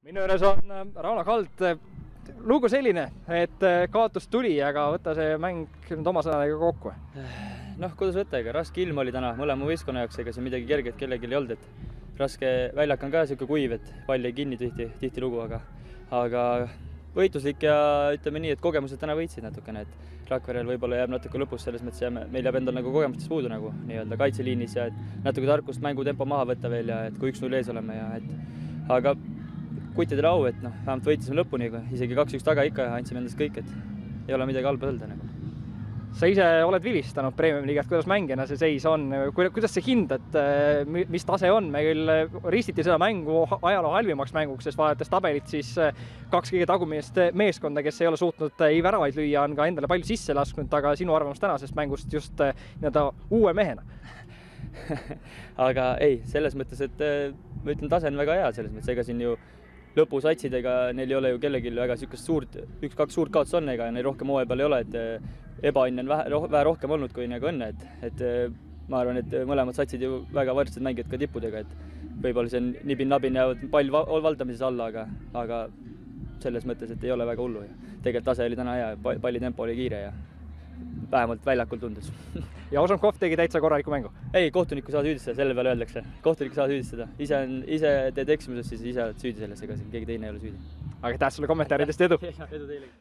Minu juures on Rauno Kald. Lugu selline, et kaotus tuli, aga võtta see mäng nüüd oma sõnadega kokku. Kuidas võtta, ega raske ilm oli täna mõlema võistkonna jaoks, ega see midagi kerget kellelgi ei olnud, et raske väljak on ka siuke kuiv, et pall ei kinni tihti lugu, aga võitluslik ja ütleme nii, et kogemused täna võitsid natukene, et Rakverel võib-olla jääb natuke lõpus selles mõttes, meil jääb endal nagu kogemustest puudu nagu nii-öelda kaitseliinis ja et natuke tarkust mängutempo maha võtta veel ja et kui 1-0 ees oleme ja aga kuttidele au, et vähemalt võitsime lõpuni, isegi 2-1 taga ikka andsime endast kõik, et ei ole midagi halba öelda nagu. Sa ise oled vilistanud Premium-liigast, kuidas mängijana see seis on, kuidas sa hindad, mis tase on? Me küll ristiti seda mängu ajaloo halvimaks mänguks, sest vaadates tabelit, siis 2 kõige tagumist meeskonda, kes ei ole suutnud ei väravaid lüüa, on ka endale palju sisse lasknud, aga sinu arvamus tänasest mängust just uue mehena? Aga ei, selles mõttes, et ma ütlen, tase on väga hea selles mõttes, ega siin ju lõpusatsidega neil ei ole ju kellelgi väga niisugust suurt, 1-2 suurt kaotus on, ega neil rohkem hooaja peal ei ole, et ebaõnne on vähe rohkem olnud kui nagu õnne, et ma arvan, et mõlemad satsid ju väga võrdsed mängijad ka tippudega, et võib-olla see on nibin-nabin jäävad pall valdamises alla, aga selles mõttes, et ei ole väga hullu ja tegelikult tase oli täna hea, palli tempo oli kiire ja vähemalt väljakul tundus. Ja Ožonkov tegi täitsa korraliku mängu? Ei, kohtunikku saa süüdistada, selle peale öeldakse. Kohtunikku saa süüdistada. Ise teed eksimusest, siis ise oled süüdi selles, ega siin keegi teine ei ole süüdi. Aga aitäh sulle kommentaaridest, edu! Edu teile!